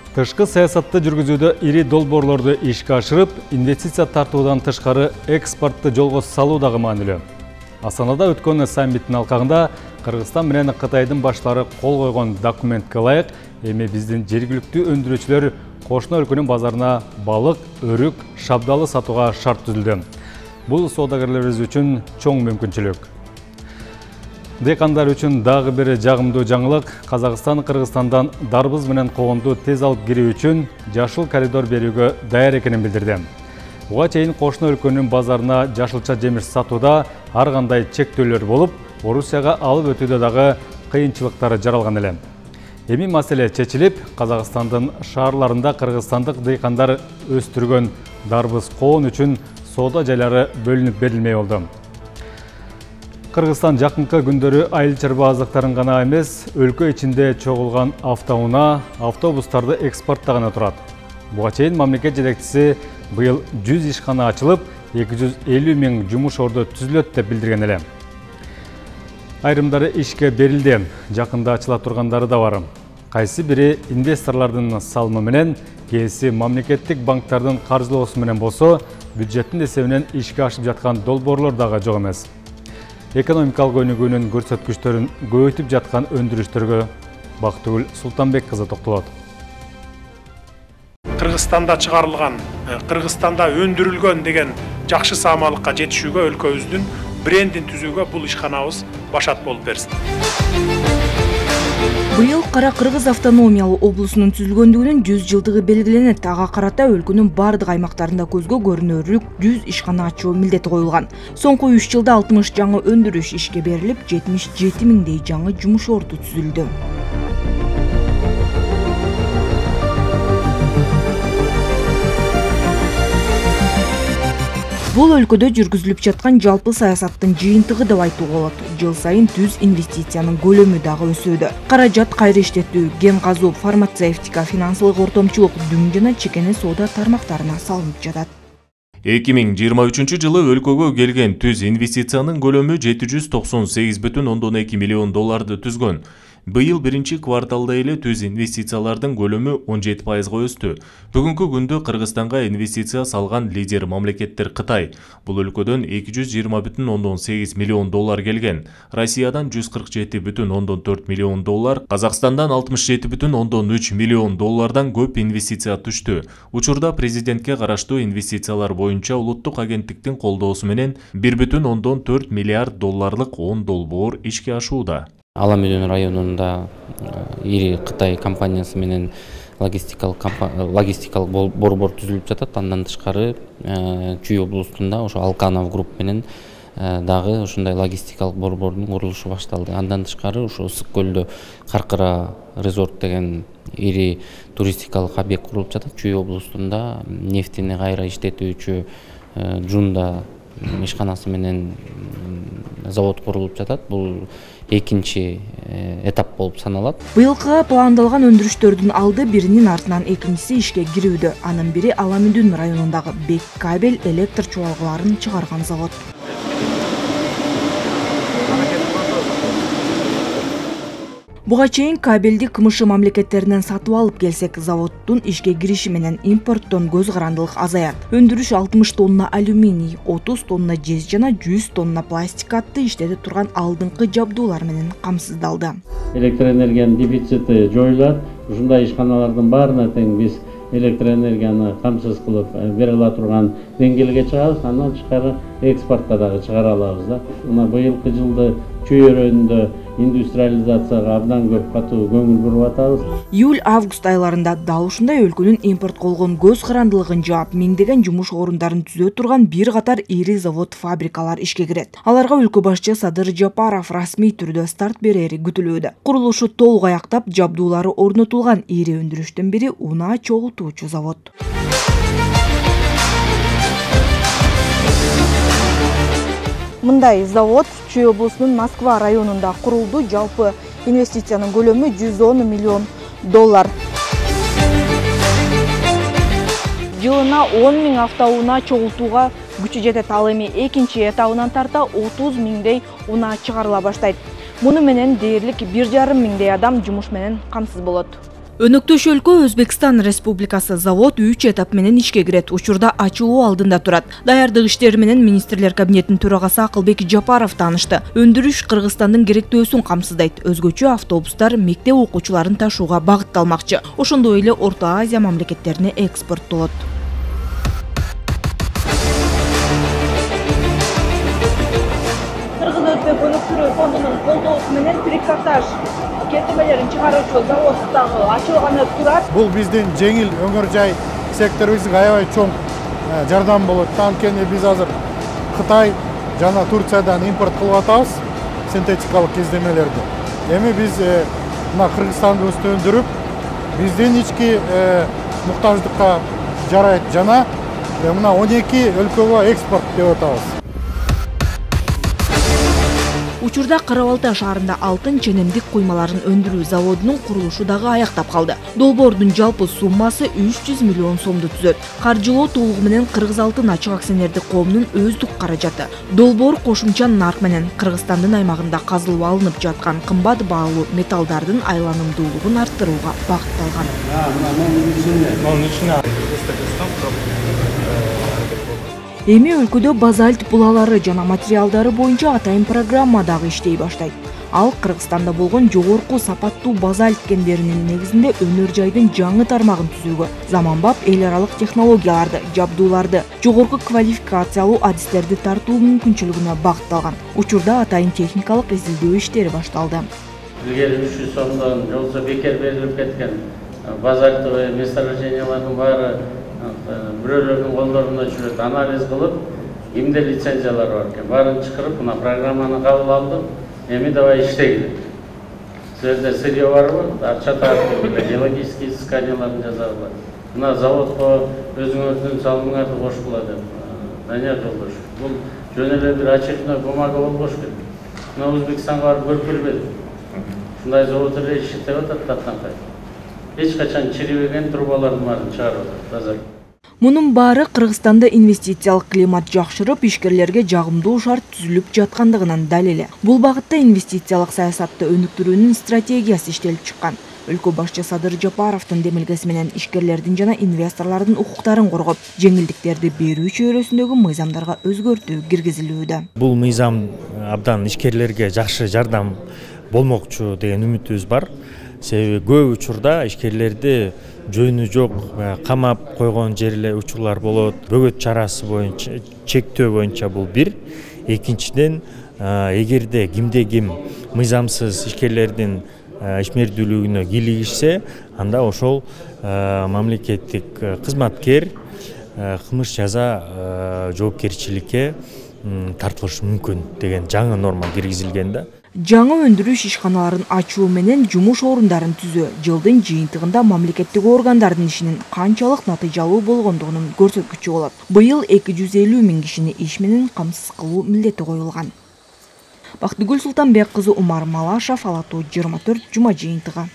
Тышкы саясатты жүргүзүүдө ири долбоорлорду ишке ашырып, инвестиция тартуудан тышкары экспортты жолго салуу дагы маанилүү. Астанада өткөн саммиттин алкагында Кыргызстан менен Кытайдын башлары кол койгон документке ылайык, эми биздин жергиликтүү өндүрүүчүлөр кошуна өлкөнүн базарына балык, өрүк, шабдалы сатууга шарт түзүлдү. Бул соодагерлерибиз үчүн чоң мүмкүнчүлүк. Дыйкандар үчүн дагы бир жагымдуу жаңылык: Казакстан Кыргызстандан дарбыз менен коонду тез алып кирүү үчүн жашыл коридор берүүгө даяр экенин билдирди. Буга чейин кошуна өлкөнүн базарына жашылча жемиш сатууда ар кандай чектөөлөр болуп, Орусияга алып өтүүдө дагы кыйынчылыктар жаралган эле. Эми маселе чечилип, Казакстандын шаарларында кыргызстандык дыйкандар өстүргөн дарбыз коон үчүн соода жайлары бөлүнүп берилмей болду. Кыргызстан жакынкы күндөрү айыл чарба азыктарын гана эмес, өлкө ичинде чогулган автоунаа, автобустарды экспорттаганы турат. Буга чейин мамлекет жетекчиси быйыл 100 ишкана ачылып, 250 миң жумуш орду түзүлөт деп билдирген эле. Айрымдары ишке берилди, жакында ачыла тургандары да бар. Кайсы бири инвесторлордун салымы менен, кээси мамлекеттик банктардын каржылоосу менен болсо, бюджеттин эсебинен ишке ашып жаткан долбоорлор дагы жок эмес. Экономикалык өнүгүүнүн көрсөткүчтөрүн көбөйтүп жаткан өндүрүштөргө Бактыгүл Султанбек кызы токтолот. Кыргызстанда чыгарылган, Кыргызстанда өндүрүлгөн деген жакшы саамалыкка жетишүүгө өлкөбүздүн брендин түзүүгө бул ишканабыз башат болуп берсин. Быйыл Кара Кыргыз автономиялуу облусунун түзүлгөндүгүнүн 100 жылдыгы белгиленет. Ага карата өлкөнүн бардык аймактарында көзгө көрүнөрлүк 100 ишкана ачуу милдети коюлган. Соңку 3 жылда 60 жаңы өндүрүш ишке берилип, 77 миңдей жаңы жумуш орду түзүлдү. Бул өлкөдө жүргүзүлүп жаткан жалпы саясаттын жыйынтыгы деп айтууга болот. Жыл сайын түз инвестициянын көлөмү дагы өсүүдө. Каражат кайра иштетүү, кен казуу, фармацевтика, финансылык ортомчулук, дүң жана чекене соода тармактарына салынып жатат. 2023 жылы өлкөгө келген түз инвестициянын көлөмү 798,2 миллион долларды түзгөн. Быйыл биринчи кварталда эле түз инвестициялардын көлөмү 17%га өстү. Бүгүнкү күндө Кыргызстанга инвестиция салган лидер мамлекеттер Кытай. Бул өлкөдөн 220,8 миллион доллар келген. Россиядан 147,4 миллион доллар, Казакстандан 67,3 миллион доллардан көп инвестиция түштү. Учурда президентке караштуу инвестициялар боюнча улуттук агенттиктин колдоосу менен 1,4 миллиард долларлык 10 долбоор ишке ашууда. Аламүдүн районунда ири Кытай компаниясы менен логистикалык борбор түзүлүп жатат. Андан тышкары Чүй облусунда ошо Алканов групп менен дагы ушундай логистикалык борбордун курулушу башталды. Андан тышкары ошо Ысык көлдө Каркыра резорт деген ири туристикалык объект курулуп жатат. Чүй облусунда нефтини кайра иштетүүчү Жунда ишканасы менен завод курулуп жатат. Бул экинчи этап болуп саналат. Быйылкыга пландалган өндүрүштөрдүн алды биринин артынан экинчиси ишке кирүүдө. Анын бири Аламүдүн районундагы Бек кабель электр чуалгаларын чыгарган завод. Буга чейин кабелди КМШ мамлекеттеринен сатып алып келсек, заводдун ишке кириши менен импорттон көз карандылык азаят. Өндүрүш 60 тонна алюминий, 30 тонна жез жана 100 тонна пластик атты иштете турган алдыңкы жабдуулар менен камсыздалды. Электр энергиянын дефицити жоюлат. Ушундай ишканалардын баарына тең биз электр энергияны камсыз кылып бере ала турган деңгээлге чыгабыз. Андан тышкары экспортко дагы чыгара алабыз да. Мына быйылкы жылды Чүй өрөөнүндө индустриализацияга абдан көп катуу көңүл буруп атабыз. Июль-август айларында дал ушундай өлкөнүн импортко болгон көз карандылыгын жаап, миңдеген жумуш орундарын түзө турган бир катар ири завод, фабрикалар ишке кирет. Аларга өлкө башчы Садыр Жапаров расмий түрдө старт берери күтүлүүдө. Курулушу толук аяктап, жабдуулары орнотулган ири өндүрүштүн бири унаа чогултуучу завод. Мындай завод Чүй облусунун Москва районунда курулду. Жалпы инвестициянын көлөмү 110 миллион доллар. Жылына 10 миң автоунаа чогултууга күчү жетет. Ал эми экинчи этабынан тарта 30 миңдей унаа чыгарыла баштайт. Муну менен дээрлик 1,5 миңдей адам жумуш менен камсыз болот. Өнөктөш өлкө Өзбекстан Республикасы завод 3 этап менен ишке кирет. Учурда ачылуу алдында турат. Даярдык иштери менен министрлер кабинетинин төрагасы Акылбек Жапаров таанышты. Өндүрүш Кыргызстандын керектөөсүн камсыздайт. Өзгөчө автобустар мектеп окуучуларын ташууга багытталмакчы. Ошондой эле Орто Азия мамлекеттерине экспорттолот. Кыргыз Өзбек өнүктүрүү фондунун колдоосу менен трикотаж кетирмелерин чыгаруучу завод дагы ачылганы турат. Бул биздин жеңил өңөр жай секторубузга аябай чоң жардам болот. Анткени биз азыр Кытай жана Турциядан импорт кылып атабыз синтетикалык кездемелерди. Эми биз мына Кыргызстандыбызды өндүрүп, биздин ички муктаждыкка жарайт жана мына 12 өлкөгө экспорт деп атабыз. Учурда Кара Балтай шаарында алтын ченемдик куймаларын өндүрүү заводунун курулушу дагы аяктап калды. Долбоордун жалпы суммасы 300 миллион сомду түзөт. Каржылоо толугу менен Кыргыз Алтын ачык акционердик коомунун өздүк каражаты. Долбоор кошумча нарк менен Кыргызстандын аймагында казылып алынып жаткан кымбат баалуу металлдардын айланымдуулугун арттырууга багытталган. Эми өлкөдө базальт булалары жана материалдары боюнча атайын программа дагы иштей баштайт. Ал Кыргызстанда болгон жогорку сапаттуу базальт кендеринин негизинде өнөр жайдын жаңы тармагын түзүүгө, заманбап эл аралык технологияларды, жабдууларды, жогорку квалификациялуу адистерди тартуу мүмкүнчүлүгүнө багытталган. Учурда атайын техникалык изилдөө иштери башталды. Илгери 300 сомдон жолсо бекер берилип кеткен базальтовый месторождениялардын баары бирөөлөрдүн колдорунда жүрөт. Анализ кылып, кимде лицензиялар бар экен, баарын чакырып, мына программаны кабыл алдым. Эми давай иштегиле. Силерде сырье барбы? Акча тартып, геологический изысканияларын жасагыла. Мына заводко өзүңөрдүн салымыңарды кошкула деп. Данияр Жолдошев. Бул жөн эле бир очередной бумага болбош керек. Мына Өзбекстанга барып көрүп келбедим. Ушундай завод эле иштеп атат таптанкай. Эч качан чирибеген трубалардын баарын чыгарып атат. Мунун баары Кыргызстанда инвестициялык климат жакшырып, ишкерлерге жагымдуу шарт түзүлүп жаткандыгынын далили. Бул багытта инвестициялык саясатты өнүктүрүүнүн стратегиясы иштелип чыккан. Өлкө башчы Садыр Жапаровдун демилгеси менен ишкерлердин жана инвесторлордун укуктарын коргоп, жеңилдиктерди берүү чөйрөсүндөгү мыйзамдарга өзгөртүү киргизилүүдө. Бул мыйзам абдан ишкерлерге жакшы жардам болмокчу деген үмүтүбүз бар. Себеби көп учурда ишкерлерди жөнү жок камап койгон жерлер учурлар болот. Бөгөт чарасы боюнча, чектөө боюнча бул бир. Экинчиден, эгерде кимде ким мыйзамсыз ишкерлердин ишмердүүлүгүнө кийлигишсе, анда ошол мамлекеттик кызматкер кылмыш жаза жоопкерчиликке тартылышы мүмкүн деген жаңы норма киргизилген да. Жаңы өндүрүш ишканаларын ачуу менен жумуш орундарын түзөө жылдын жыйынтыгында мамлекеттик органдардын ишинин канчалык натыйжалуу болгондугунун көрсөткүчү болот. Быйыл 250 000 кишини иш менен камсыз кылуу милдети коюлган. Бактыгүл Султанбек кызы, Умар Малашев, Ала Тоо 24, жума жыйынтыгы.